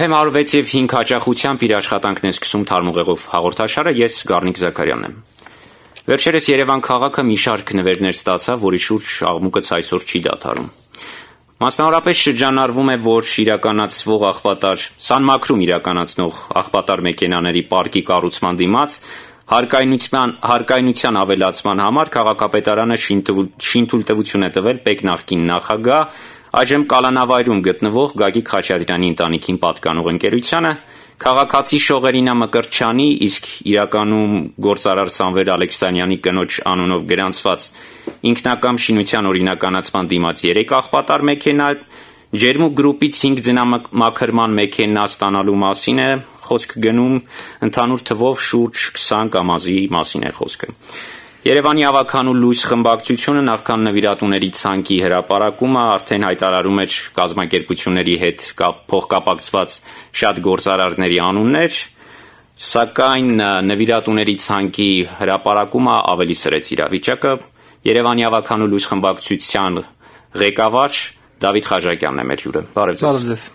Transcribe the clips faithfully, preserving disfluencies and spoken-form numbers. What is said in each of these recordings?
Եվ հեմ հարյուր վեց և հինգ հաճախությամբ իր աշխատանքն է սկսում թարմուղեղով հաղորդաշարը, ես Գառնիկ Զաքարյանն եմ։ Վերջերս Երևան քաղաքը մի շարք նվերներ ստացավ, որի շուրջ աղմուկը այսօր չի դադարում։ Մասնավորապես շրջանառվում է, որ իրականացվող աղբատար, Սանմաքրում իրականացնող աղբատար մեքենաների պարկի կառուցման դիմաց հարկայնության, հարկայնության ավելացման համար քաղաքապետարանը շինթույլտվություն է տվել ՊԵԿ նախկին նախագահ, այժմ կալանավայրում գտնվող Գագիկ Խաչատրյանի ընտանիքին պատկանող ընկերությանը, քաղաքացի Շողերինա Մկրտչյանի, իսկ իրականում գործարար Սամվել Ալեքսանյանի կնոջ անունով գրանցված ինքնակամ շինության օրինականացման դիմաց երեք աղբատար մեքենա, Ջերմուկ գրուպից հինգ ձնամաքրման մեքենա ստանալու մասին է խոսք գնում, ընդհանուր թվով շուրջ քսան կամազի մասին է խոսքը։ Երևանի ավագանու լույս խմբակցությունը նախքան նվիրատուների ցանկի հրապարակումը արդեն հայտարարում էր կազմակերպությունների հետ փոխկապակցված շատ գործարարների անուններ, սակայն նվիրատուների ցանկի հրապարակումը ավելի սրեց իրավիճակը։ Երևանի ավագանու լույս խմբակցության ղեկավար Դավիթ Խաչակյանն է մեր հյուրը։ Բարև ձեզ։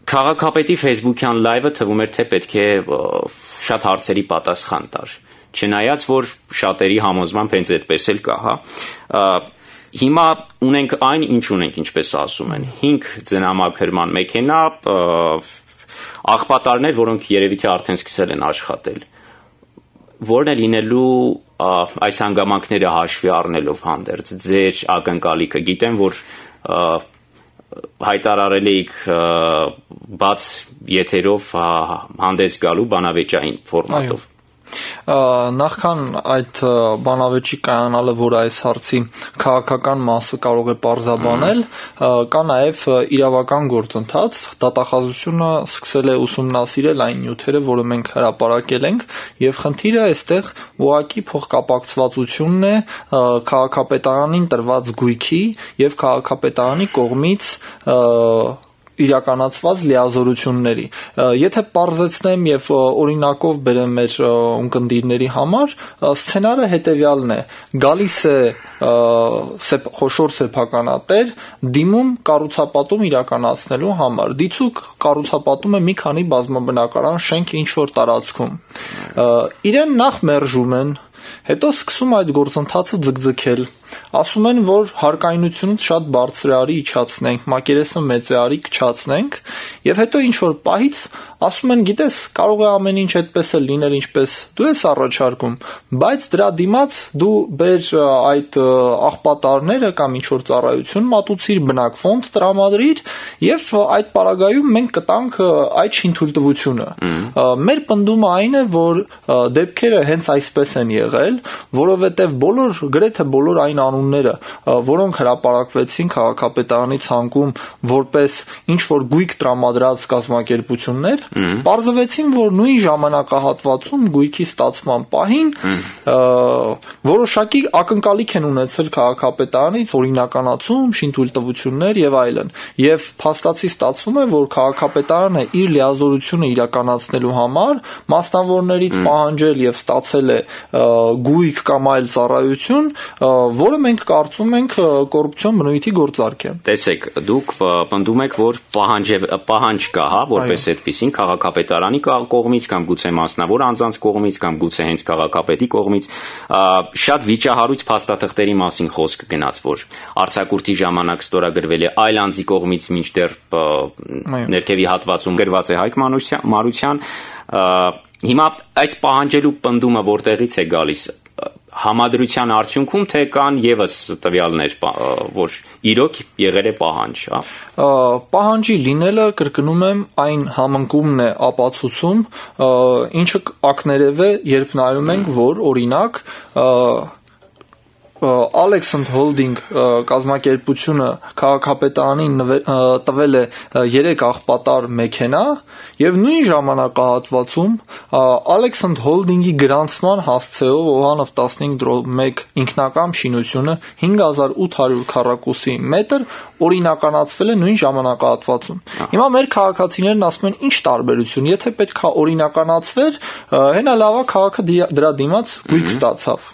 Քաղաքապետի Facebook-յան լայվը թվում էր, թե պետք է շատ հարցերի պատասխան տար։ Չնայած, որ շատերի համոզմամբ հենց այդպես էլ կա, հա։ Հիմա ունենք այն, ինչ ունենք, ինչպես ասում են, հինգ ձնամաքրման մեքենա, աղբատարներ, որոնք երևի թե արդեն սկսել են աշխատել։ Որն է լինելու այս հանգամանքները հաշվի առնելով հանդերձ ձեր ակնկալիքը։ Գիտեմ, որ հայտարարել էիք բաց եթերով հանդես գալու բանավեճային ֆորմատով։ Նախքան այդ բանավեճի կայանալը, որ այս հարցի քաղաքական մասը կարող է պարզաբանել, կա նաև իրավական գործընթաց, դատախազությունը սկսել է ուսումնասիրել այն նյութերը, որը մենք հրապարակել ենք, եւ խնդիրը այստեղ ուղղակի փոխկապակցվածությունն է քաղաքապետարանին տրված գույքի եւ քաղաքապետարանի կողմից իրականացված լիազորությունների։ Եթե պարզեցնեմ եւ օրինակով բերեմ մեր ունկնդիրների համար, սցենարը հետեւյալն է. գալիս է խոշոր սեփականատեր, դիմում կառուցապատում իրականացնելու համար։ Դիցուք կառուցապատում է մի քանի բազմաբնակարան շենք ինչ-որ տարածքում։ Իրեն նախ մերժում են, հետո սկսում այդ գործընթացը ձգձգել։ Ասում են, որ հարկայնությունից շատ բարձր է, արի իջացնենք, մակերեսը մեծ է, արի քչացնենք, եւ հետո ինչ որ պահից ասում են, գիտես, կարող է ամեն ինչ այդպես էլ լինել, ինչպես դու ես առաջարկում, բայց դրա դիմաց դու բեր այդ աղբատարները կամ ինչ որ ծառայություն մատուցիր, բնակ ֆոնդ տրամադրիր եւ այդ պարագայում մենք կտանք այդ շինթույլտվությունը։ Մեր պնդումը այն է, որ դեպքերը հենց այսպես են եղել, որովհետեւ բոլոր գրեթե բոլոր այն անունները, որոնք հրապարակվեցին քաղաքապետարանի ցանկում որպես ինչ որ գույք տրամադրած կազմակերպություններ, պարզվեցին, որ նույն ժամանակահատվածում գույքի ստացման պահին որոշակի ակնկալիք են ունեցել քաղաքապետարանից օրինականացում, շինթույլտվություններ եւ այլն։ Եվ փաստացի ստացվում է, որ քաղաքապետարանը իր լիազորությունը իրականացնելու համար մասնավորներից պահանջել եւ ստացել է գույք կամ այլ ծառայություն, որը մենք կարծում ենք կոռուպցիոն բնույթի գործարք է։ Տեսեք, դուք պնդում եք, որ պահանջ պահանջ կա, հա, որպես այդպեսին քաղաքապետարանի կողմից կամ գուցե մասնավոր անձանց կողմից կամ գուցե հենց քաղաքապետի կողմից շատ վիճահարույց փաստաթղթերի մասին խոսք գնաց, որ արձակուրդի ժամանակ ստորագրվել է այլ անձի կողմից, մինչդեռ ներքևի հատվածում գրված է Հայկ Մարության։ Հիմա այս պահանջելու պնդումը որտեղից է գալիս։ Համադրության արդյունքում թե կան եւս տվյալներ, որ իրոք եղել է պահանջ, հա։ Պահանջի լինելը, կրկնում եմ, այն համընկումն է ապացուցում, ինչը ակներև է, երբ նայում ենք, որ օրինակ Alexand Holding կազմակերպությունը քաղաքապետարանին տվել է երեք աղբատար մեքենա եւ նույն ժամանակահատվածում Alexand Holding-ի գրանցման հասցեով Օհանով տասնհինգ մեկ ինքնակամ շինությունը հինգ հազար ութ հարյուր քառակուսի մետր օրինականացվել է նույն ժամանակահատվածում։ Հիմա մեր քաղաքացիներն ասում են, ինչ տարբերություն, եթե պետքա օրինականացվեր, հենա լավա քաղաքը դրա դիմաց գույք ստացավ։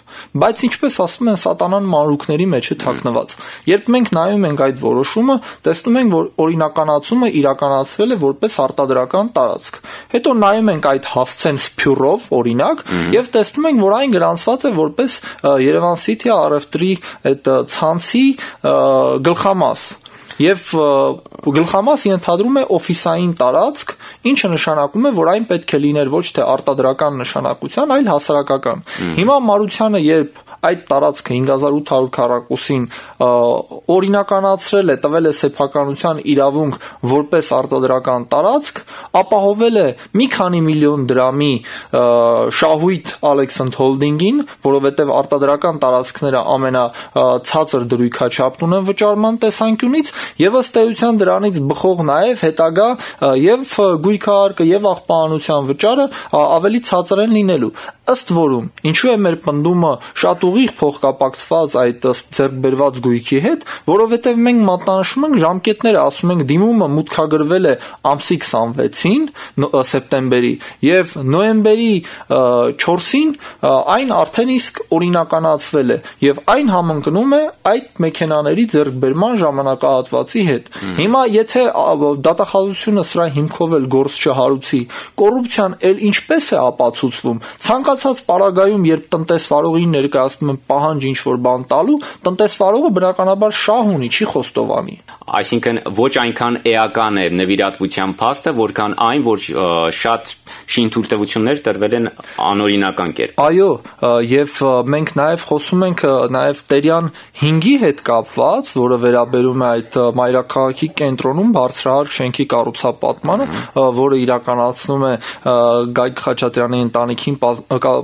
Բայց ինչպես ասում են, սա սատանան մանրուքների մեջ է թաքնված։ Երբ մենք նայում ենք այդ որոշումը, տեսնում ենք, որ օրինականացումը իրականացվել է որպես արտադրական տարածք։ Հետո նայում ենք այդ հասցեն սփյուռով, օրինակ, եւ տեսնում ենք, որ այն գրանցված է որպես Երևան City առևտրի այդ ցանցի գլխամաս։ Եվ գլխամաս ենթադրում է օֆիսային տարածք, ինչը նշանակում է, որ այն պետք է լիներ ոչ թե արտադրական նշանակության, այլ հասարակական։ Հիմա Մարությանը, երբ այդ տարածքը հինգ հազար ութ հարյուր քառակուսին օրինականացրել է, տվել է սեփականության իրավունք որպես արտադրական տարածք, ապահովել է մի քանի միլիոն դրամի շահույթ Alexand Holding-ին, որովհետև արտադրական տարածքները ամենացածր դրույքաչափն ունեն վճարման տեսանկյունից, եւ ըստ էության դրանից բխող նաեւ հետագա եւ գույքահարկը եւ աղբանության վճարը ավելի ցածր են լինելու։ Ըստ որում, ինչու է մեր պնդումը շատ ուղիղ փոխկապակցված այդ ձեռք բերված գույքի հետ, որովհետև մենք մատնանշում ենք ժամկետները, ասում ենք դիմումը մուտքագրվել է ամսի քսանվեցին սեպտեմբերի եւ նոյեմբերի չորսին այն արդեն իսկ օրինականացվել է եւ այն համընկնում է այդ մեքենաների ձեռքբերման ժամանակահատվածի հետ։ Հիմա եթե դատախազությունը սրա հիմքով էլ գործ չհարուցի, կոռուպցիան էլ ինչպես է ապացուցվում։ Ցանկացած պարագայում, երբ տնտեսվարողին ներկայացնում են պահանջ ինչ-որ բան տալու, տնտեսվարողը բնականաբար շահ ունի, չի խոստովանի։ Այսինքն ոչ այնքան էական է նվիրատվության փաստը, որքան այն, որ շատ շինթույլտվություններ տրվել են անօրինական կերպ։ Այո, եւ մենք նաեւ խոսում ենք նաեւ Տերյան հինգի հետ կապված, որը վերաբերում է այդ մայրաքաղաքի կենտրոնում բարձրահարկ շենքի կառուցապատմանը, որը իրականացնում է Գագիկ Խաչատրյանի ընտանիքին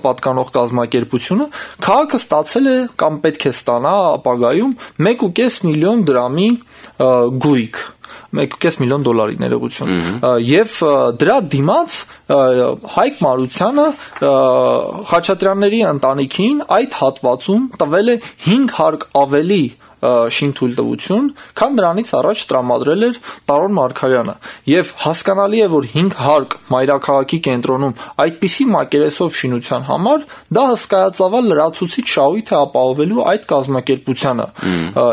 պատկանող կազմակերպությունը, քաղաքը ստացել է կամ պետք է ստանա ապագայում մեկ ու կես միլիոն դրամի գույք, մեկ ու կես միլիոն դոլարի ներողություն, եւ դրա դիմաց Հայկ Մարությանը Խաչատրյանների ընտանիքին այդ հատվածում տվել է հինգ հարկ ավելի շինթույլտվություն, քան դրանից առաջ տրամադրել էր Տարոն Մարգարյանը, եւ հասկանալի է, որ հինգ հարկ մայրաքաղաքի կենտրոնում այդպիսի մակերեսով շինության համար դա հսկայածավալ լրացուցիչ շահույթ է ապահովելու այդ կազմակերպությանը։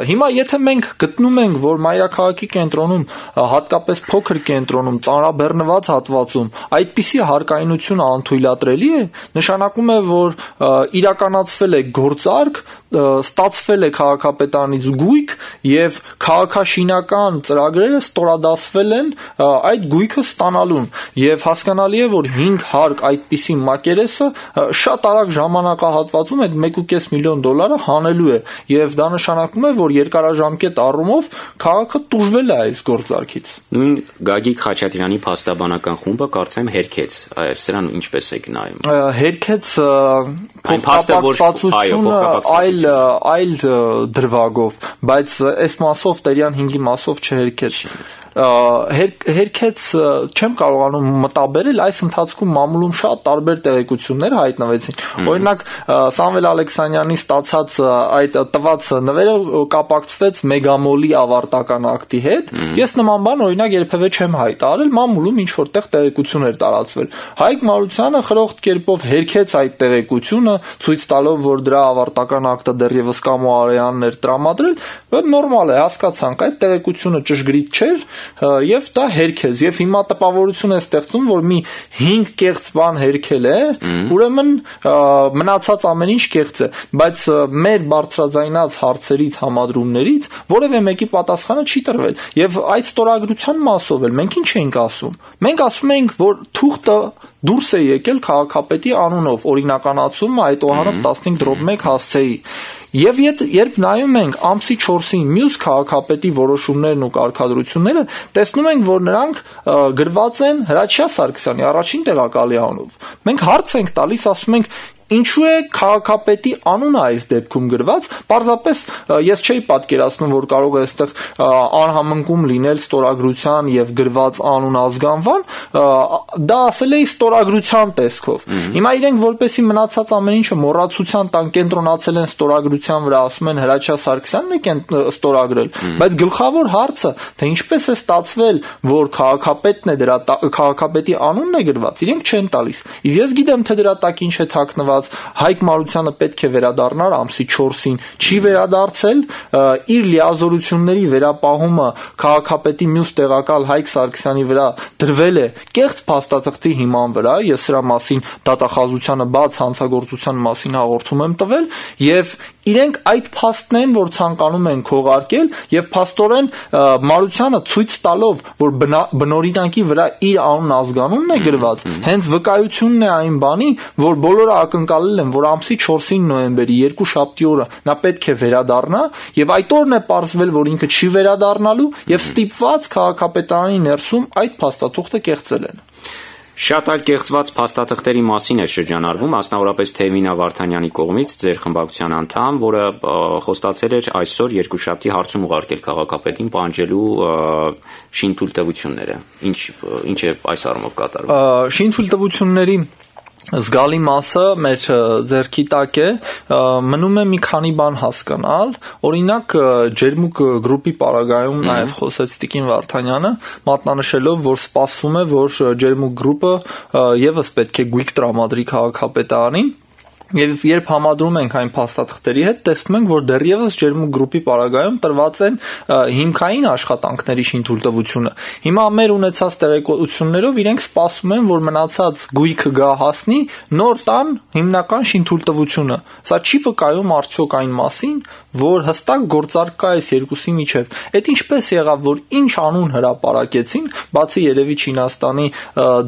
Հիմա եթե մենք գտնում ենք, որ մայրաքաղաքի կենտրոնում, հատկապես փոքր կենտրոնում, ծանրաբեռնված հատվածում այդպիսի հարկայնությունը անթույլատրելի է, նշանակում է, որ իրականացվել է գործարք, ստացվել է քաղաքապետարանից գույք եւ քաղաքաշինական ծրագրերը ստորադասվել են այդ գույքը ստանալուն եւ հասկանալի է, որ հինգ հարկ այդպիսի մակերեսը շատ արագ ժամանակահատվածում այդ մեկ ու կես միլիոն դոլարը հանելու է եւ դա նշանակում է, որ երկարաժամկետ առումով քաղաքը տուժվել է այս գործարքից։ Նույն Գագիկ Խաչատրյանի փաստաբանական խումբը կարծեմ հերքեց, սրան ինչպես եք նայում։ Հերքեց փոխկապակցությունը այլ այլ դրվագով, բայց այս մասով Տերյան հինգի մասով չհերքեց։ Հերքեց չեմ կարողանում մտաբերել, այս ընթացքում մամուլում շատ տարբեր տեղեկություններ հայտնվեցին։ Օրինակ Սամվել Ալեքսանյանի ստացած այդ տված նվերը կապակցվեց Մեգամոլի ավարտական ակտի հետ։ Ես նման բան օրինակ երբևէ չեմ հայտարարել, մամուլում ինչ որտեղ տեղեկություն էր տարածվել։ Հայկ Մարությանը խրոխտ կերպով հերքեց այդ տեղեկությունը, ցույց տալով, որ դրա ավարտական ակտը դեռևս Կամո Արեյանն էր տրամադրել, բայց նորմալ է, հասկացանք, այդ տեղեկությունը ճշգրիտ չէր եւ դա հերքեց եւ հիմա տպավորություն է ստեղծում, որ մի հինգ կեղծ բան հերքել է, ուրեմն մնացած ամեն ինչ կեղծ է, բայց մեր բարձրաձայնած հարցերից, համադրումներից որևէ մեկի պատասխանը չի տրվել եւ այդ ստորագրության մասով էլ մենք ինչ ենք ասում։ Մենք ասում ենք, որ թուղթը դուրս է եկել քաղաքապետի անունով, օրինականացումը այդ օհանով տասնհինգ դրոպ մեկ հասցեի։ Եվ երբ նայում ենք ամսի չորսին մյուս քաղաքապետի որոշումներն ու կարգադրությունները, տեսնում ենք, որ նրանք գրված են Հրաչյա Սարգսյանի առաջին տեղակալի անունով։ Մենք հարց ենք տալիս, ասում ենք, ինչու է քաղաքապետի անունը այս դեպքում գրված, պարզապես ես չէի պատկերացնում, որ կարող է այստեղ անհամընկում լինել ստորագրության եւ գրված անուն ազգանվան, դա ասել էի ստորագրության տեսքով։ Հիմա իրենք որպեսի մնացած ամեն ինչը մոռացության տան կենտրոնացել են ստորագրության վրա, ասում են Հրաչյա Սարգսյանն է ստորագրել, բայց գլխավոր հարցը, թե ինչպես է ստացվել, որ քաղաքապետն է դրա քաղաքապետի անունն է գրված, իրենք չեն տալիս։ Իսկ ես գիտեմ, թե դրա տակ ինչ է թաքնված, ասած Հայկ Մարությանը պետք է վերադառնար ամսի չորսին, չի վերադարձել, իր լիազորությունների վերապահումը քաղաքապետի մյուս տեղակալ Հայկ Սարգսյանի վրա դրվել է կեղծ փաստաթղթի հիման վրա, ես սրա մասին դատախազությանը բաց հանցագործության մասին հաղորդում եմ տվել, եւ իրենք այդ փաստն են, որ ցանկանում են քողարկել եւ փաստորեն Մարությանը ցույց տալով, որ բնօրինակի վրա իր անուն ազգանունն է գրված, հենց վկայությունն է այն բանի, որ բոլորը ակնկալել են, որ ամսի չորսին նոյեմբերի երկուշաբթի օրը նա պետք է վերադառնա եւ այդ օրն է պարզվել, որ ինքը չի վերադառնալու եւ ստիպված քաղաքապետարանի ներսում այդ փաստաթուղթը կեղծել են։ Շատ այլ կեղծված փաստաթղթերի մասին է շրջանառվում, մասնավորապես Թևինա Վարդանյանի կողմից ձեր խմբակցության անդամ, որը խոստացել էր այսօր երկուշաբթի հարցում ուղարկել քաղաքապետին պահանջելու շինթույլտվությունները։ Ինչ ինչ է այս առումով կատարվում։ Շինթույլտվությունների զգալի մասը մեր ձեռքի տակ է, մնում է մի քանի բան հասկանալ, օրինակ Ջերմուկ գրուպի պարագայում նաև խոսեց Տիկին Վարդանյանը, մատնանշելով, որ սպասվում է, որ Ջերմուկ գրուպը եւս պետք է գույք տրամադրի քաղաքապետարանին, եւ երբ համադրում ենք այն փաստաթղթերի հետ, տեսնում ենք, որ դեռևս Ջերմուկ գրուպի պարագայում տրված են հիմքային աշխատանքների շինթույլտվությունը։ Հիմա մեր ունեցած տեղեկություններով իրենք սպասում են, որ մնացած գույքը գա հասնի նոր տան հիմնական շինթույլտվությունը։ Սա չի վկայում արդյոք այն մասին, որ հստակ գործարք կա այս երկուսի միջև։ Այդ ինչպես եղավ, որ ինչ անուն հրապարակեցին, բացի երևի Չինաստանի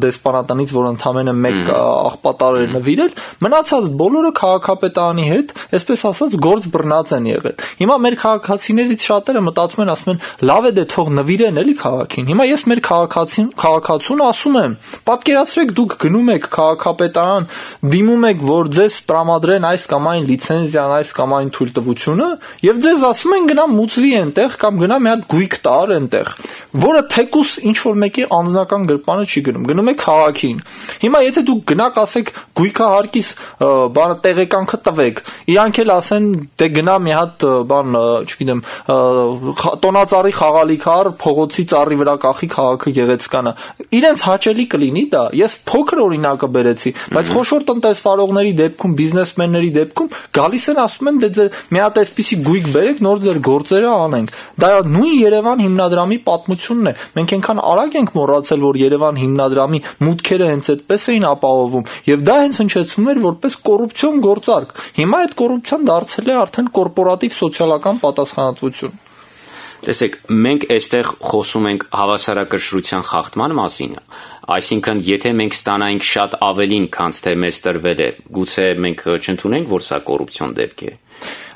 դեսպանատնից, որ ընդամենը մեկ աղբատար էր նվիրել, մնացած բոլորը քաղաքապետարանի հետ, այսպես ասած, գործ բռնած են եղել։ Հիմա մեր քաղաքացիներից շատերը մտածում են, ասում են, լավ է դե թող նվիրեն էլի քաղաքին։ Հիմա ես մեր քաղաքացին, քաղաքացուն ասում եմ, պատկերացրեք դուք գնում եք քաղաքապետարան, դիմում եք, որ ձեզ տրամադրեն այս կամ այն լիցենզիան, այս կամ այն թույլտվությունը, եւ ձեզ ասում են գնա մուծվի այնտեղ կամ գնա մի հատ գույք տար այնտեղ, որը թեկուս ինչ որ մեկի անձնական գրպանը չի գնում, գնում է քաղաքին։ Հիմա եթե դուք գնաք ասեք գույքահարկիս բանը տեղեկանքը տվեք, իրանք էլ ասեն դե գնա մի հատ բան, չգիտեմ, տոնածառի խաղալիք առ, փողոցի ծառի վրա կախի քաղաքը գեղեցկանը։ Իրենց հաճելի կլինի դա։ Ես փոքր օրինակը բերեցի, բայց խոշոր տնտեսվարողների դեպքում, բիզնեսմենների դեպքում գալիս են ասում են դե մի հատ այսպիսի գույք բերեք, նոր ձեր գործերը անենք։ Դա նույն Երևան հիմնադրամի պատմությունն է։ Մենք այնքան արագ ենք մոռացել, որ Երևան հիմնադրամի մուտքերը հենց այդպես էին ապահովում, եւ դա հենց հնչեցնում էր որպես կոռուպցիոն գործարք։ Հիմա այդ կոռուպցիան դարձել է արդեն կորպորատիվ սոցիալական պատասխանատվություն։ Տեսեք, մենք այստեղ խոսում ենք հավասարակշռության խախտման մասին, այսինքն եթե մենք ստանայինք շատ ավելին, քան թե մեզ տրվել է, գուցե մենք չընդունենք, որ սա կոռուպցիոն դեպք է։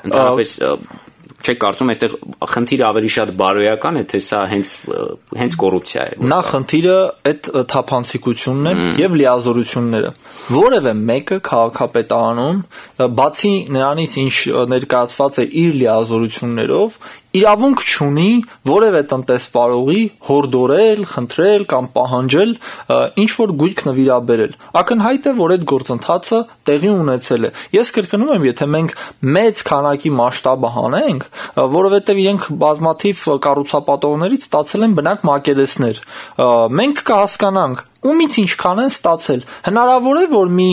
Ընդհանրապես չեք կարծում այստեղ խնդիրը ավելի շատ բարոյական է, թե սա հենց հենց կոռուպցիա է։ Նա խնդիրը այդ թափանցիկությունն է եւ լիազորությունները։ Որևէ մեկը քաղաքապետարանում, բացի նրանից, ինչ ներկայացված է իր լիազորություններով, իրավունք չունի որևէ տնտեսվարողի հորդորել, խնդրել կամ պահանջել ինչ որ գույք նվիրաբերել։ Ակնհայտ է, որ այդ գործընթացը տեղի ունեցել է։ Ես կրկնում եմ, եթե մենք մեծ քանակի մասշտաբը հանենք, որովհետև իրենք բազմաթիվ կառուցապատողներից ստացել են բնակ մակերեսներ, մենք կհասկանանք ումից ինչքան են ստացել։ Հնարավոր է, որ մի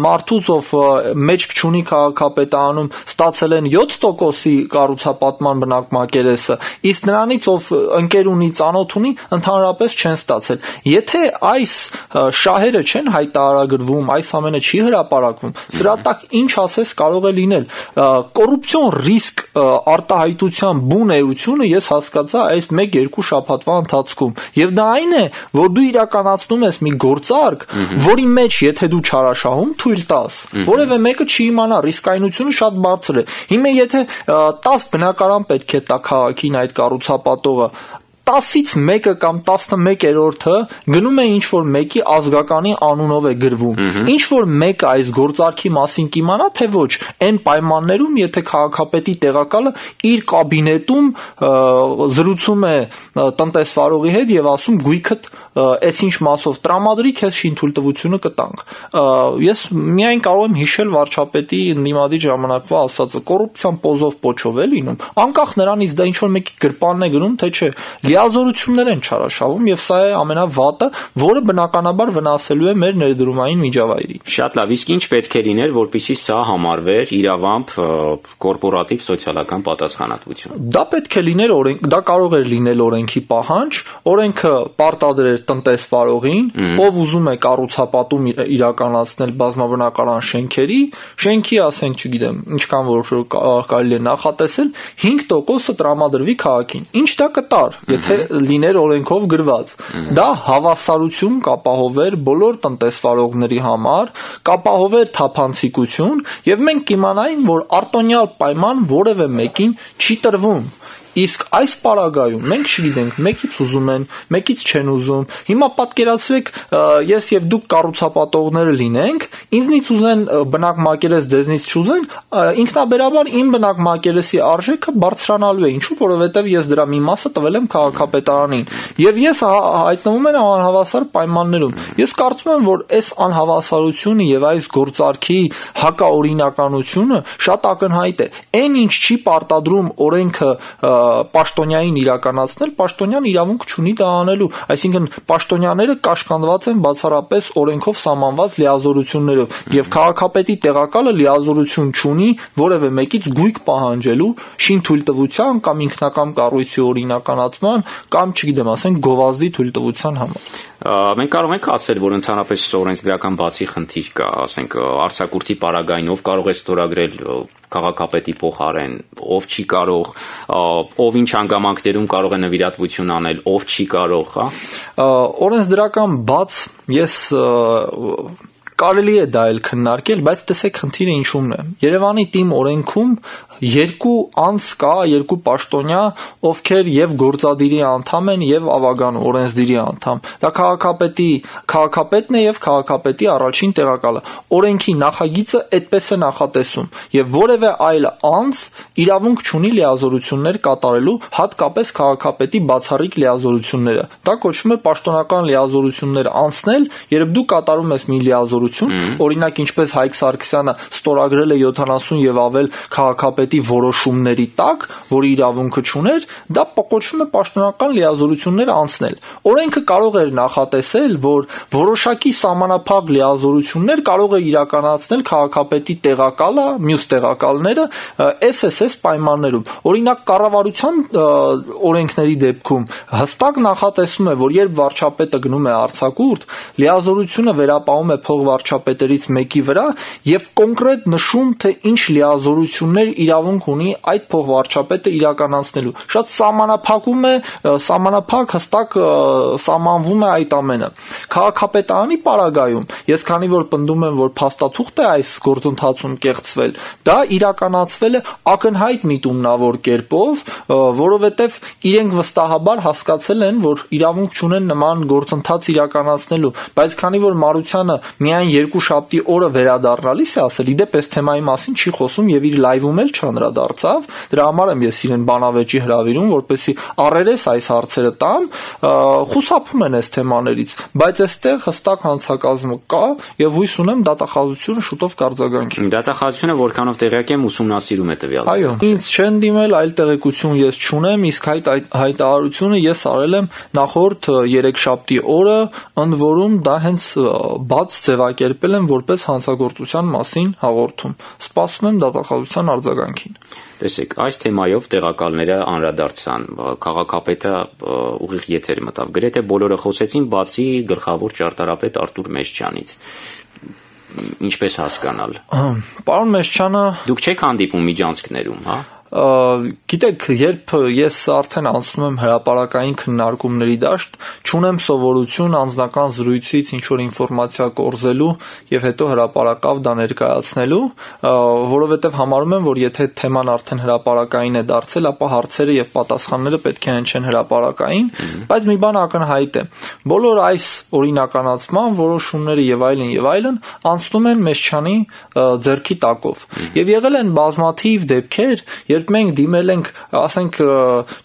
մարդուց, ով մեջք չունի քաղաքապետարանում, ստացել են յոթ տոկոսի կառուցապատման բնակ մակերեսը, իսկ նրանից, ով ընկեր ունի, ծանոթ ունի, ընդհանրապես չեն ստացել։ Եթե այս շահերը չեն հայտարարագրվում, այս ամենը չի հրապարակվում, սրա տակ ինչ ասես կարող է լինել։ Կոռուպցիոն ռիսկ արտահայտության բուն էությունը ես հասկացա այս մեկ-երկու շաբաթվա ընթացքում, եւ դա այն է, որ դու իրականացնում ես մի գործարք, որի մեջ եթե դու չարաշահում թույլ տաս, որևէ մեկը չի իմանա, ռիսկայնությունը շատ բարձր է։ Հիմա եթե տասը բնակարան պետք է տա քաղաքին այդ կառուցապատողը, տասից մեկը կամ տասնմեկերորդը գնում է ինչ որ մեկի ազգականի անունով է գրվում։ Ինչ որ մեկը այս գործարքի մասին կիմանա, թե ոչ, այն պայմաններում, եթե քաղաքապետի տեղակալը իր կաբինետում զրուցում է տնտեսվարողի հետ եւ ասում գույքդ այս ինչ մասով տրամադրի, քեզ շինթույլտվությունը կտանք։ Ես միայն կարող եմ հիշել վարչապետի ընդդիմադիր ժամանակվա ասածը՝ կոռուպցիան պոզով պոչով է լինում, անկախ նրանից դա ինչ որ մեկի գրպանն է գնում, թե չէ, լիազորություններ են չարաշավում եւ սա է ամենավատը, որը բնականաբար վնասելու է մեր ներդրումային միջավայրին։ Շատ լավ, իսկ ինչ պետք է լիներ, որպեսզի սա համարվեր իրավամբ կորպորատիվ սոցիալական պատասխանատվություն։ Դա պետք է լիներ օրենք, դա կարող էր լինել օրենքի պահանջ, օրենքը պարտադրեր տնտեսվարողին, ով ուզում է կառուցապատում իրականացնել բազմաբնակարան շենքերի, շենքի, ասենք, չգիտեմ, ինչքան որ կարելի է նախատեսել, հինգ տոկոսը տրամադրվի քաղաքին։ Ինչ դա կտար, եթե լիներ օրենքով գրված։ Դա հավասարություն կապահովեր բոլոր տնտեսվարողների համար, կապահովեր թափանցիկություն, եւ մենք կիմանայինք, որ արտոնյալ պայման որևէ մեկին չի տրվում։ Իսկ այս պարագայում մենք չգիտենք, մեկից ուզում են, մեկից չեն ուզում։ Հիմա պատկերացրեք, ես եւ դուք կառուցապատողները լինենք, ինձնից ուզեն բնակ մակերես, ձեզնից չուզեն, ինքնաբերաբար իմ բնակ մակերեսի արժեքը բարձրանալու է, ինչու, որովհետեւ ես դրա մի մասը տվել եմ քաղաքապետարանին, եւ ես հայտնվում եմ անհավասար պայմաններում։ Ես կարծում եմ, որ այս անհավասարությունը եւ այս գործարքի հակաօրինականությունը շատ ակնհայտ է։ Այն ինչ չի պարտադրում օրենքը պաշտոնյային իրականացնել, պաշտոնյան իրավունք չունի դա անելու, այսինքն պաշտոնյաները կաշկանդված են բացառապես օրենքով սահմանված լիազորություններով եւ քաղաքապետի տեղակալը լիազորություն չունի որևէ մեկից գույք պահանջելու շինթույլտվության կամ ինքնակամ կառույցի օրինականացման կամ չգիտեմ, ասենք գովազդի թույլտվության համար։ Մենք կարող ենք ասել, որ ընդհանրապես օրենսդրական բացի խնդիր կա, ասենք արձակուրդի պարագային ով կարող է ստորագրել քաղաքապետի փոխարեն, ով չի կարող, ով ինչ հանգամանքներում կարող է նվիրատվություն անել, ով չի կարող, հա։ Օրենսդրական բաց ես կարելի է դա էլ քննարկել, բայց տեսեք խնդիրը ինչումն է։ Երևանի թիմ օրենքում երկու անձ կա, երկու պաշտոնյա, ովքեր եւ գործադիրի անդամ են եւ ավագան օրենսդիրի անդամ։ Դա քաղաքապետի, քաղաքապետն է եւ քաղաքապետի առաջին տեղակալը։ Օրենքի նախագիծը այդպես է նախատեսում եւ որևէ այլ անձ իրավունք չունի լիազորություններ կատարելու, հատկապես քաղաքապետի բացառիկ լիազորությունները։ Դա կոչվում է պաշտոնական լիազորություններ անցնել, երբ դու կատարում ես մի լիազորություն, օրինակ ինչպես Հայկ Սարգսյանը ստորագրել է յոթանասուն եւ ավել քաղաքապետի որոշումների տակ, որի իրավունքը չուներ, դա կոչվում է պաշտոնական լիազորություններ անցնել։ Օրենքը կարող էր նախատեսել, որ որոշակի սահմանափակ լիազորություններ կարող է իրականացնել քաղաքապետի տեղակալը, մյուս տեղակալները էս էս էս պայմաններում։ Օրինակ կառավարության օրենքների դեպքում հստակ նախատեսվում է, որ երբ վարչապետը գնում է արձակուրդ, լիազորությունը վերապահում է փոխվարչապետերից մեկի վրա եւ կոնկրետ նշում, թե ինչ լիազորություններ իրավունք ունի այդ փոխվարչապետը իրականացնելու։ Շատ սահմանափակում է, սահմանափակ հստակ սահմանվում է այդ ամենը։ Քաղաքապետարանի պարագայում ես քանի որ պնդում եմ, որ փաստաթուղթ է այս գործընթացում կեղծվել, դա իրականացվել է ակնհայտ միտումնավոր կերպով, որովհետեւ իրենք վստահաբար հասկացել են, որ իրավունք չունեն նման գործընթաց իրականացնելու, բայց քանի որ Մարությանը միայն երկու շաբթի օրը վերադառնալիս է ասել, իդեպ այս թեմայի մասին չի խոսում եւ իր լայվում էլ չանդրադարձավ, դրա համար եմ ես իրեն բանավեճի հրավիրում, որպեսզի առերես այս հարցերը տամ, խուսափում են այս թեմաներից, բայց այստեղ հստակ հանցակազմը կա եւ հույս ունեմ դատախազությունը շուտով կարձագանքի։ Դատախազությունը որքանով տեղյակ եմ ուսումնասիրում է տվյալ։ Այո, ինձ չեն դիմել, այլ տեղեկություն ես չունեմ, իսկ հայտ հայտարարությունը ես արել եմ նախորդ երեքշաբթի օրը, ընդ որում դա հենց բաց ձևակերպել եմ որպես հանցագործության մասին հաղորդում։ Սպասում եմ դատախազության արձագանքին։ Տեսեք, այս թեմայով տեղակալները անդրադարձան, քաղաքապետը ուղիղ եթեր մտավ։ Գրեթե բոլորը խոսեցին, բացի գլխավոր ճարտարապետ Արտուր Մեշչյանից։ Ինչպես հասկանալ։ Պարոն Մեշչյանը, դուք չեք հանդիպում միջանցքներում, հա։ Գիտեք, երբ ես արդեն անցնում եմ հրապարակային քննարկումների դաշտ, չունեմ սովորություն անձնական զրույցից ինչ որ ինֆորմացիա կորզելու եւ հետո հրապարակավ դա ներկայացնելու, որովհետեւ համարում եմ, որ եթե թեման արդեն հրապարակային է դարձել, ապա հարցերը եւ պատասխանները պետք է հնչեն հրապարակային, բայց մի բան ակնհայտ է։ Բոլոր այս օրինականացման որոշումները եւ այլն եւ այլն անցնում են Մեշչյանի ձեռքի տակով։ Եվ եղել են բազմաթիվ դեպքեր, երբ երբ մենք դիմել ենք, ասենք,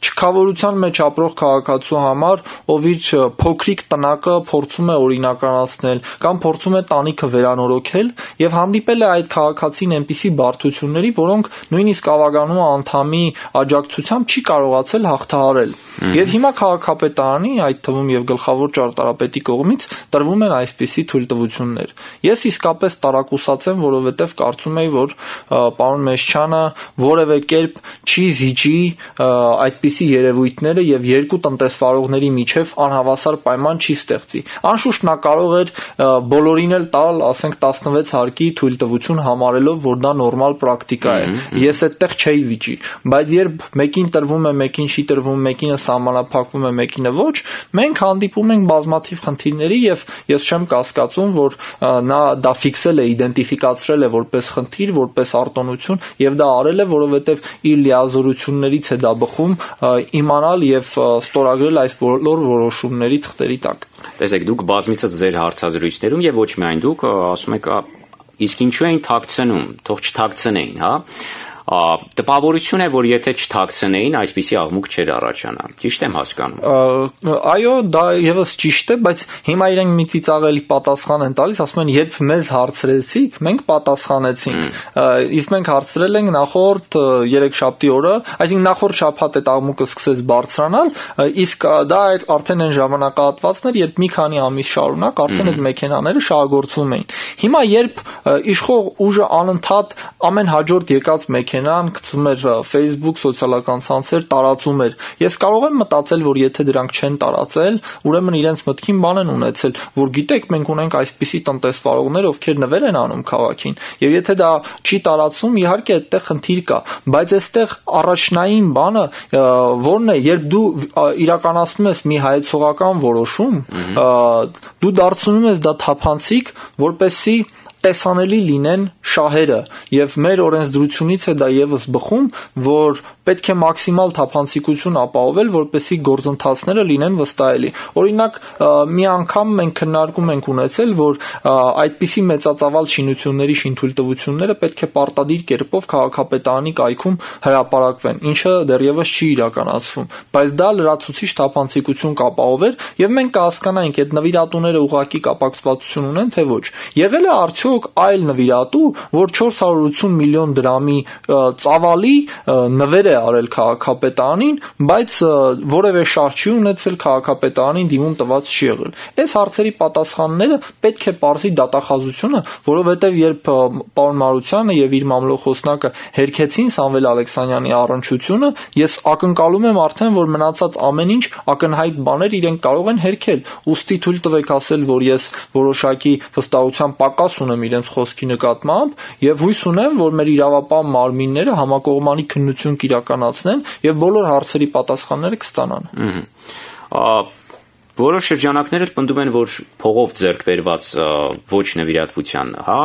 չքավորության մեջ ապրող քաղաքացու համար, ով իր փոքրիկ տնակը փորձում է օրինականացնել կամ փորձում է տանիքը վերանորոգել եւ հանդիպել է այդ քաղաքացին այնպիսի բարդությունների, որոնք նույնիսկ ավագանու անդամի աջակցությամբ չի կարողացել հաղթահարել։ Եվ հիմա քաղաքապետարանի, այդ թվում եւ գլխավոր ճարտարապետի կողմից տրվում են այսպիսի թույլտվություններ։ Ես իսկապես տարակուսած եմ, որովհետեւ կարծում եի, որ պարոն Մեշչյանը որևէ կերպ չի զիջի այդպիսի երևույթները եւ երկու տնտեսվարողների միջև անհավասար պայման չի ստեղծի։ Անշուշտ նա կարող էր բոլորին էլ տալ, ասենք, տասնվեց հարկի թույլտվություն համարելով, որ դա նորմալ պրակտիկա է։ Ես այդտեղ չէի վիճի, բայց երբ մեկին տրվում է, մեկին չի տրվում, մեկինը սահմանափակվում է, մեկինը ոչ, մենք հանդիպում ենք բազմաթիվ խնդիրների եւ ես չեմ կասկածում, որ նա դա ֆիքսել է, իդենտիֆիկացրել է որպես խնդիր, որպես արտոնություն եւ դա արել է, որովհետեւ իր լիազորություններից է դա բխում իմանալ եւ ստորագրել այս բոլոր որոշումների թղթերի տակ։ Տեսեք, դուք բազմիցս ձեր հարցազրույցներում եւ ոչ միայն դուք ասում եք, իսկ ինչու էին թաքցնում, թող չթաքցնեին, հա։ Տպավորություն է, որ եթե չթաքցնեին, այսպիսի աղմուկ չէր առաջանա։ Ճիշտ եմ հասկանում։ Այո, դա եւս ճիշտ է, բայց հիմա իրենք մի ծիծաղելի պատասխան են տալիս, ասում են, երբ մեզ հարցրեցիք, մենք պատասխանեցինք։ Իսկ մենք հարցրել ենք նախորդ երեքշաբթի օրը, այսինքն նախորդ շաբաթ այդ աղմուկը սկսեց բարձրանալ, իսկ դա արդեն այն ժամանակահատվածն էր, երբ մի քանի ամիս շարունակ արդեն այդ մեքենաները շահագործվում էին։ Հիմա երբ իշխող ուժը անընդհատ ամեն հաջորդ եկած մեքենա Նան գցում էր Facebook, սոցիալական ցանցեր, տարածում էր։ Ես կարող եմ մտածել, որ եթե դրանք չեն տարածել, ուրեմն իրենց մտքին բան են ունեցել, որ գիտեք, մենք ունենք այսպիսի տնտեսվարողներ, ովքեր նվեր են անում քաղաքին։ Եվ եթե դա չի տարածվում, իհարկե այդտեղ խնդիր կա, բայց այստեղ առաջնային բանը որն է, երբ դու իրականացնում ես մի հայեցողական որոշում, դու դարձնում ես դա թափանցիկ, որպեսզի տեսանելի լինեն շահերը եւ մեր օրենսդրությունից է դա եւս բխում, որ պետք է մաքսիմալ թափանցիկություն ապահովել, որպեսզի գործընթացները լինեն վստահելի։ Օրինակ, մի անգամ մենք քննարկում ենք ունեցել, որ այդպիսի մեծածավալ շինությունների շինթույլտվությունները պետք է պարտադիր կերպով քաղաքապետարանի կայքում հրապարակվեն, ինչը դեռևս չի իրականացվում, բայց դա լրացուցիչ թափանցիկություն կապահովեր եւ մենք կհասկանայինք այդ նվիրատուները ուղղակի կապակցվածություն ունեն թե ոչ։ Եղել է արդյոք այլ նվիրատու, որ չորս հարյուր ութսուն միլիոն դրամի ծավալի նվեր է արել քաղաքապետարանին, բայց որևէ շահ չի ունեցել քաղաքապետարանին դիմում տված չի եղել։ Այս հարցերի պատասխանները պետք է պարզի դատախազությունը, որովհետև երբ պարոն Մարությանը եւ իր մամլոխոսնակը հերքեցին Սամվել Ալեքսանյանի առնչությունը, ես ակնկալում եմ արդեն, որ մնացած ամեն ինչ ակնհայտ բաներ իրենք կարող են հերքել։ Ուստի թույլ տվեք ասել, որ ես որոշակի վստահության պակաս ունեմ իրենց խոսքի նկատմամբ եւ հույս ունեմ, որ մեր իրավապահ մարմինները համակողմանի քննություն կիրականացնեն եւ բոլոր հարցերի պատասխանները կստանան։ Որոշ շրջանակներ էլ պնդում են, որ փողով ձեռք բերված ոչ նվիրատվության, հա,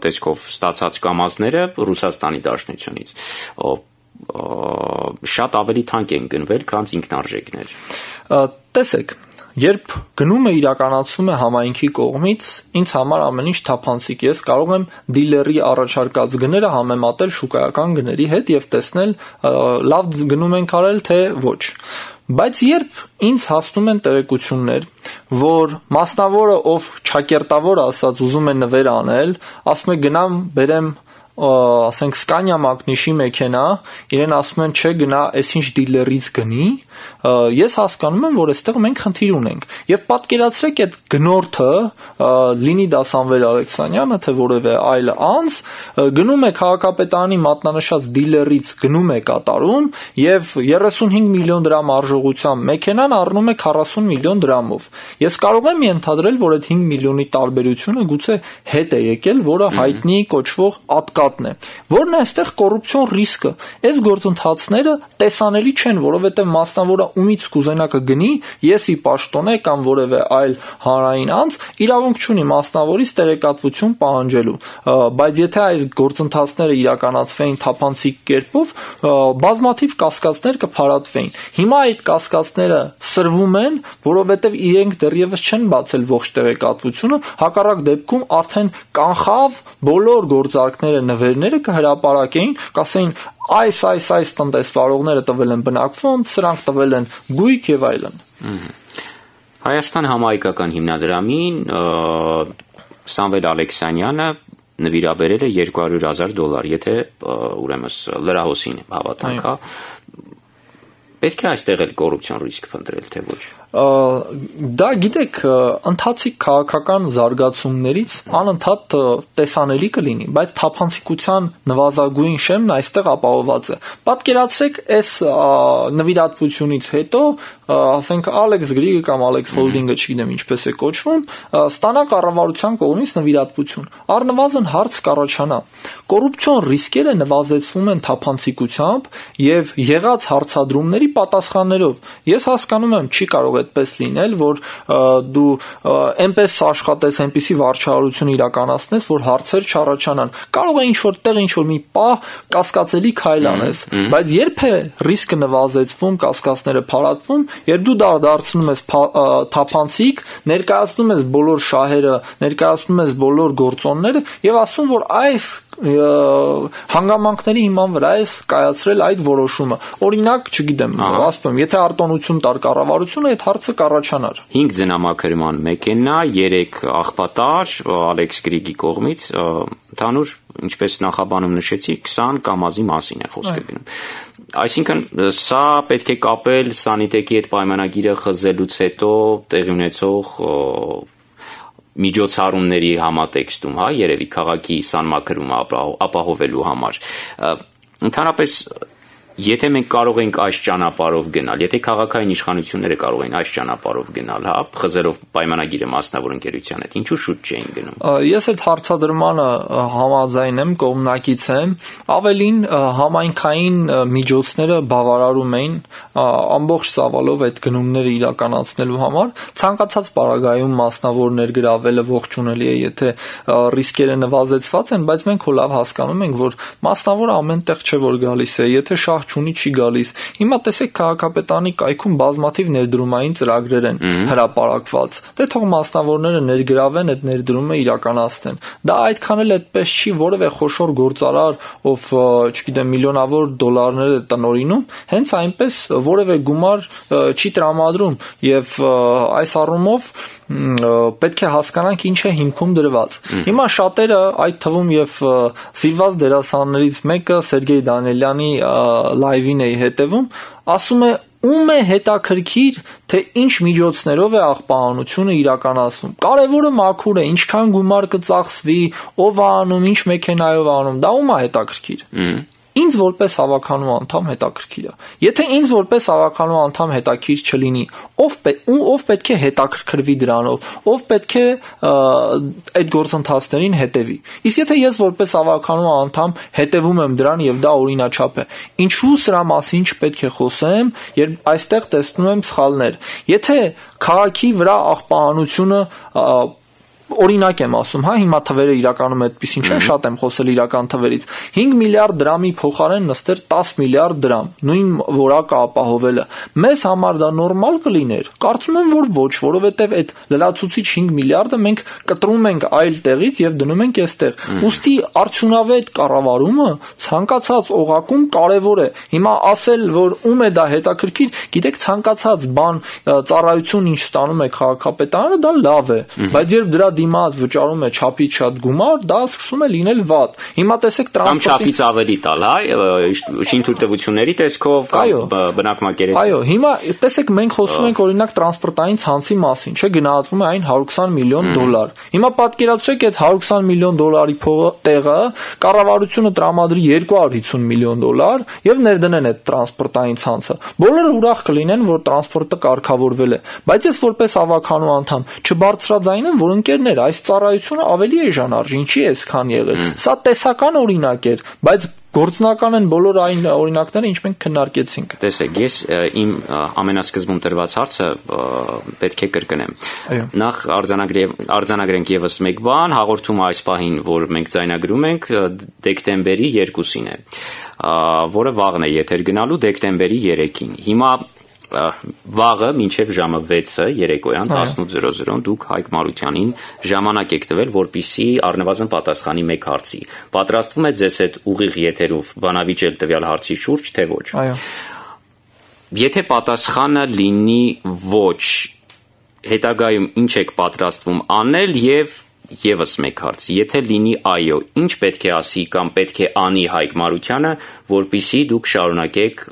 տեսքով ստացած կամազները Ռուսաստանի Դաշնությունից շատ ավելի թանկ են գնվել, քան ինքնարժեքներ։ Տեսեք, երբ գնումը իրականացվում է համայնքի կողմից, ինձ համար ամեն ինչ թափանցիկ է, ես կարող եմ դիլերի առաջարկած գները համեմատել շուկայական գների հետ եւ տեսնել լավ գնում ենք արել թե ոչ։ Բայց երբ ինձ հասնում են տեղեկություններ, որ մասնավորը, ով ճակերտավոր ասած ուզում է նվեր անել, ասում է գնամ բերեմ ասենք Scania Magnish-ի մեքենա, իրեն ասում են չէ գնա այսինչ դիլերից գնի, ես հասկանում եմ, որ այստեղ մենք խնդիր ունենք։ Եվ պատկերացրեք այդ գնորդը, լինի դա Սամվել Ալեքսանյանը, թե որևէ այլ անձ, գնում է քաղաքապետարանի մատնանշած դիլերից գնում է կատարում եւ երեսունհինգ միլիոն դրամ արժողությամբ մեքենան առնում է քառասուն միլիոն դրամով։ Ես կարող եմ ենթադրել, որ այդ հինգ միլիոնի տարբերությունը գուցե հետ է եկել, որը հայտնի կոչվող ատկատն է։ Որն է այստեղ կոռուպցիոն ռիսկը։ Այս գործընթացները տեսանելի չեն, որովհետեւ մասնավորը ումից կուզենա կգնի, եսի պաշտոնե կամ որևէ այլ հանրային անձ իրավունք չունի մասնավորից տեղեկատվություն պահանջելու, բայց եթե այս գործընթացները իրականացվեին թափանցիկ կերպով, բազմաթիվ կասկածներ կփարատվեին։ Հիմա այդ կասկածները սրվում են, որովհետեւ իրենք դեռևս չեն բացել ողջ տեղեկատվությունը, հակառակ դեպքում արդեն կանխավ բոլոր գործարքները նվերները կհրապարակեին, կասեին այս այս այս տնտեսվարողները տվել են բնակֆոնդ, սրանք տվել են գույք եւ այլն։ Հայաստան համահայկական հիմնադրամին Սամվել Ալեքսանյանը նվիրաբերել է երկու հարյուր հազար դոլար, եթե ուրեմն լրահոսին հավատանք, հա։ Պետք է այստեղ էլ կոռուպցիոն ռիսկ փնտրել, թե ոչ։ Դա գիտեք, ընթացիկ քաղաքական զարգացումներից անընդհատ տեսանելի կլինի, բայց թափանցիկության նվազագույն շեմն այստեղ ապահովված է։ Պատկերացրեք, այս նվիրատվությունից հետո, ասենք Alex Grigg կամ Alex Holding-ը, չգիտեմ ինչպես է կոչվում, ստանա կառավարության կողմից նվիրատվություն։ Առնվազն հարց կառաջանա։ Կոռուպցիոն ռիսկերը նվազեցվում են թափանցիկությամբ եւ եղած հարցադրումների պատասխաններով։ Ես հասկանում եմ, չի կարող այդպես լինել, որ դու այնպես աշխատես, այնպիսի վարչարություն իրականացնես, որ հարցեր չառաջանան։ Կարող է ինչ-որ տեղ ինչ-որ մի պահ կասկածելի քայլ անես, բայց երբ է ռիսկը նվազեցվում, կասկածները փարատվում, երբ դու դա դարձնում ես թափանցիկ, ներկայացնում ես բոլոր շահերը, ներկայացնում ես բոլոր գործոնները եւ ասում, որ այս հանգամանքների հիման վրա է կայացրել այդ որոշումը։ Օրինակ, չգիտեմ, ասում եմ, եթե արտոնություն տար կառավարությունը, այդ հարցը կառաջանար։ հինգ ձնամաքրման մեքենա, երեք աղբատար Alex Grigg-ի կողմից, ընդհանուր, ինչպես նախաբանում նշեցի, քսան կամազի մասին է խոսքը գնում։ Այսինքն, սա պետք է կապել Սանիտեկի հետ պայմանագիրը խզելուց հետո տեղի ունեցող միջոցառումների համատեքստում, հա, երևի քաղաքի սանմաքրումը ապահովելու համար։ Ընդհանրապես, եթե մենք կարող ենք այս ճանապարհով գնալ, եթե քաղաքային իշխանությունները կարող են այս ճանապարհով գնալ, հա, խզելով պայմանագիրը մասնավոր ընկերության հետ, ինչու շուտ չէին գնում։ Ես այդ հարցադրմանը համաձայն եմ, կողմնակից եմ, ավելին համայնքային միջոցները բավարարում էին ամբողջ ծավալով այդ գնումները իրականացնելու համար, ցանկացած պարագայում մասնավորներ գրավելը ողջունելի է, եթե ռիսկերը նվազեցված են, բայց մենք հո լավ հասկանում ենք, որ մասնավոր ամեն տեղ չէ որ գալիս է, եթե շահ չունի չի գալիս։ Հիմա տեսեք քաղաքապետարանի կայքում բազմաթիվ ներդրումային ծրագրեր են հրապարակված։ Դե թող մասնավորները ներգրավեն այդ ներդրումը իրականացնեն։ Դա այդքան էլ այդպես չի, որևէ խոշոր գործարար, ով, չգիտեմ, միլիոնավոր դոլարներ է տնօրինում, հենց այնպես որևէ գումար չի տրամադրում եւ այս առումով պետք է հասկանանք ինչ է հիմքում դրված։ Հիմա շատերը, այդ թվում եւ սիրված դերասաններից մեկը Սերգեյ Դանիելյանի լայվին էի հետևում, ասում է ում է հետաքրքիր, թե ինչ միջոցներով է աղբահանությունը իրականացվում։ Կարևորը մաքուր է, ինչքան գումար կծախսվի, ով է անում, ինչ մեքենայով է անում, դա ում է հետաքրքիր։ Ինձ որպես հավաքանու անդամ հետաքրքիր է։ Եթե ինձ որպես հավաքանու անդամ հետաքրքիր չլինի, ով ով պետք է հետաքրքրվի դրանով, ով պետք է այդ գործընթացներին հետևի։ Իսկ եթե ես որպես հավաքանու անդամ հետևում եմ դրան եւ դա օրինաչափ է, ինչու սրա մասին չպետք է խոսեմ, երբ այստեղ տեսնում եմ սխալներ։ Եթե քաղաքի վրա աղբահանությունը օրինակ եմ ասում, հա, հիմա թվերը իրականում այդպեսին չեն, շատ եմ խոսել իրական թվերից։ հինգ միլիարդ դրամի փոխարեն նստեր տաս միլիարդ դրամ, նույն որակը ապահովելը։ Մեզ համար դա նորմալ կլիներ։ Կարծում եմ, որ ոչ, որովհետև այդ լրացուցիչ հինգ միլիարդը մենք կտրում ենք այլ տեղից եւ դնում ենք այստեղ։ Ուստի արդյունավետ կառավարումը ցանկացած օղակում կարևոր է։ Հիմա ասել, որ ում է դա հետաքրքիր, գիտեք, ցանկացած բան, ծառայություն ինչ ստանում է քաղաքապետարանը, դա լավ է, բայց երբ դրա դիմաց վճարում է չափից շատ գումար, դա սկսում է լինել վատ։ Հիմա տեսեք տրանսպորտի կամ չափից ավելի տալ, հա, շինթույլտվությունների տեսքով կամ բնակմակերեսի։ Այո, հիմա տեսեք մենք խոսում ենք օրինակ տրանսպորտային ցանցի մասին, չէ, գնահատվում է այն հարյուր քսան միլիոն դոլար։ Հիմա պատկերացրեք այդ հարյուր քսան միլիոն դոլարի փողը տեղը կառավարությունը տրամադրի երկու հարյուր հիսուն միլիոն դոլար եւ ներդնեն այդ տրանսպորտային ցանցը։ Բոլորը ուրախ կլինեն, որ տրանսպորտը կարգավորվել է, բայց ես որպես հավաքանու անդամ չբարձրաձայնեմ, որ ընկերներ, այս ծառայությունը ավելի էժանարժ, ինչի է այսքան եղել։ Սա տեսական օրինակ էր, բայց գործնական են բոլոր այն օրինակները, ինչ մենք քննարկեցինք։ Տեսեք, ես իմ ամենասկզբում տրված հարցը պետք է կրկնեմ։ Նախ արձանագրենք եւս մեկ բան, հաղորդումը այս պահին, որ մենք ձայնագրում ենք, դեկտեմբերի երկուսին է, որը վաղն է եթեր գնալու, դեկտեմբերի երեքին։ Հիմա Վաղը մինչև ժամը վեցը երեկոյան տասնութ զրո զրոն դուք Հայկ Մարությանին ժամանակ եք տվել, որպեսզի առնվազն պատասխանի մեկ հարցի։ Պատրաստվում եք ձեզ այդ ուղիղ եթերով բանավիճել տվյալ հարցի շուրջ, թե ոչ։ Այո։ Եթե պատասխանը լինի ոչ, հետագայում ինչ եք պատրաստվում անել եւ եւս մեկ հարց։ Եթե լինի այո, ինչ պետք է ասի կամ պետք է անի Հայկ Մարությանը, որպեսզի դուք շարունակեք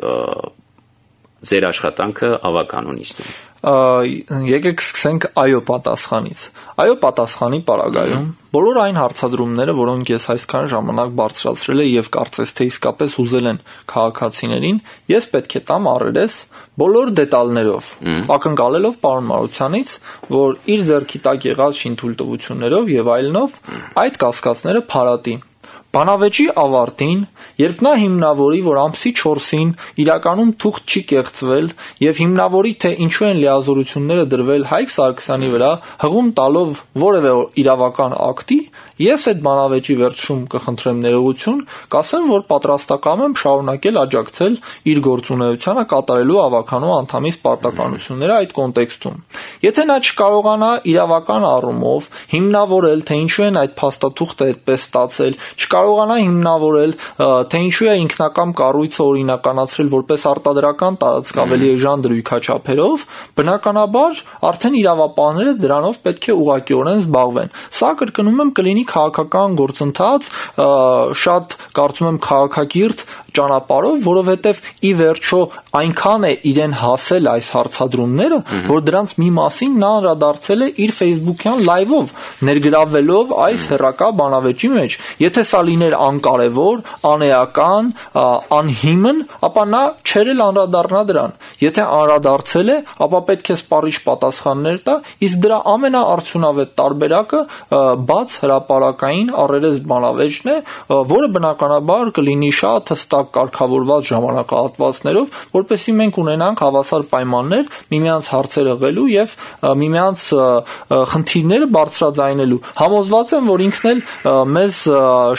ձեր աշխատանքը ավականունիստում։ Եկեք սկսենք այո պատասխանից։ Այո պատասխանի պարագայում բոլոր այն հարցադրումները, որոնք ես այսքան ժամանակ բարձրացրել եմ եւ կարծես թե իսկապես ուզել են քաղաքացիներին, ես պետք է տամ առերես բոլոր դետալներով, ակնկալելով պարոն Մարությանից, որ իր ձեռքի տակ եղած շինթույլտվություններով եւ այլնով այդ կասկածները փարատի։ Բանավեճի ավարտին, երբ նա հիմնավորի, որ ամսի չորսին իրականում թուղթ չի կեղծվել եւ հիմնավորի, թե ինչու են լիազորությունները դրվել Հայկ Սարգսյանի վրա, հղում տալով որևէ իրավական ակտի, ես այդ բանավեճի վերջում կխնդրեմ ներողություն, կասեմ, որ պատրաստակամ եմ շարունակել աջակցել իր գործունեությանը կատարելու ավականու անդամի պարտականությունները այդ կոնտեքստում։ Եթե նա չկարողանա իրավական առումով հիմնավորել, թե ինչու են այդ փաստաթուղթը այդպես ստացել, չկարողանա հիմնավորել, թե ինչու է ինքնակամ կառույցը օրինականացրել որպես արտադրական տարածք ավելի էժան դրույքաչափերով, բնականաբար արդեն իրավապահները դրանով պետք է ուղղակիորեն զբաղվեն։ Սա կրկնում եմ կլինի քաղաքական գործընթաց, շատ կարծում եմ քաղաքակիրթ ճանապարհով, որովհետև ի վերջո այնքան է իրեն հասել այս հարցադրումները, որ դրանց մի մասին նա անդրադարձել է իր Facebook-յան լայվով, ներգրավվելով այս հերրակա բանավեճի մեջ։ Եթե սա լիներ անկարևոր, անեական, անհիմն, ապա նա չէր էլ անդրադառնա դրան։ Եթե անդրադարձել է, ապա պետք է սպառիչ պատասխաններ տա, իսկ դրա ամենաարդյունավետ տարբերակը բաց հրապարակային առերես բանավեճն է, որը բնականաբար կլինի շատ հստակ կարգավորված ժամանակահատվածներով, որպեսզի մենք ունենանք հավասար պայմաններ միմյանց հարցերը ղելու եւ միմյանց խնդիրները բարձրաձայնելու։ Համոզված եմ, որ ինքն էլ մեզ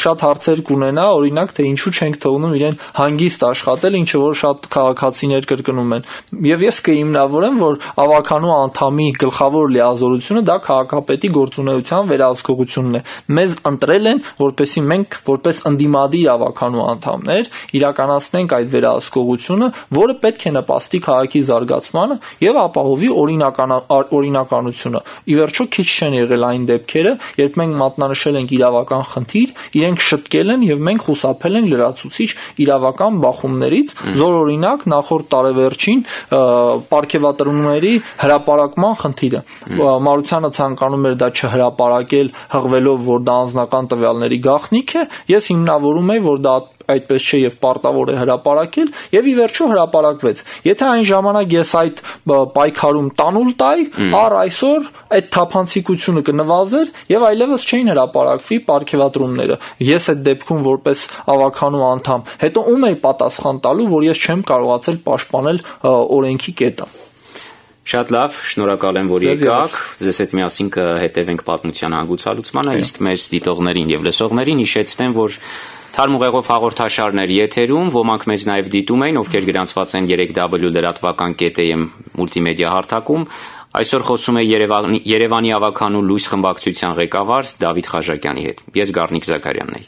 շատ հարցեր կունենա, օրինակ, թե ինչու չենք թողնում իրեն հանգիստ աշխատել, ինչը որ շատ քաղաքացիներ կրկնում են։ Եվ ես կհիմնավորեմ, որ ավականու անդամի գլխավոր լիազորությունը դա քաղաքապետի գործունեության վերահսկողությունն է։ Մեզ ընտրել են, որպեսզի մենք որպես ընդդիմադիր ավականու անդամներ իրականացնենք այդ վերահսկողությունը, որը պետք է նպաստի քաղաքի զարգացմանը եւ ապահովի օրինական օրինականությունը։ Ի վերջո քիչ չեն եղել այն դեպքերը, երբ մենք մատնանշել ենք իրավական խնդիր, իրենք շտկել են եւ մենք խուսափել ենք լրացուցիչ իրավական բախումներից, զոր օրինակ նախորդ տարեվերջին պարգևատրոնների հրապարակման խնդիրը։ Մարությանը ցանկանում էր դա չհրապարակել, հղվելով, որ դա անձնական տվյալների գաղտնիք է, ես հիմնավորում եմ, որ դա այդպես չէ եւ պարտավոր է հրապարակել եւ ի վերջո հրապարակվեց։ Եթե այն ժամանակ ես այդ պայքարում տանուլ տայի, առ այսօր այդ թափանցիկությունը կնվազեր եւ այլևս չէին հրապարակվի պարգևատրոնները։ Ես այդ դեպքում որպես ավականու անդամ, հետո ում էի պատասխան տալու, որ ես չեմ կարողացել պաշտպանել օրենքի կետը։ Շատ լավ, շնորհակալ եմ, որ եկաք։ Ձեզ հետ միասին կհետևենք պատմության հանգուցալուծմանը, իսկ մեր դիտողներին եւ լսողներին հիշեցնեմ, որ Թարմ ուղեղով հաղորդաշարներ եթերում, ոմանք մեզ նաև դիտում էին, ովքեր գրանցված են երեք w լրատվական կետ am մուլտիմեդիա հարթակում։ Այսօր խոսում է Երևանի, Երևանի ավականու լույս խմբակցության ղեկավար Դավիթ Խաչակյանի հետ։ Ես Գառնիկ Զաքարյանն եմ։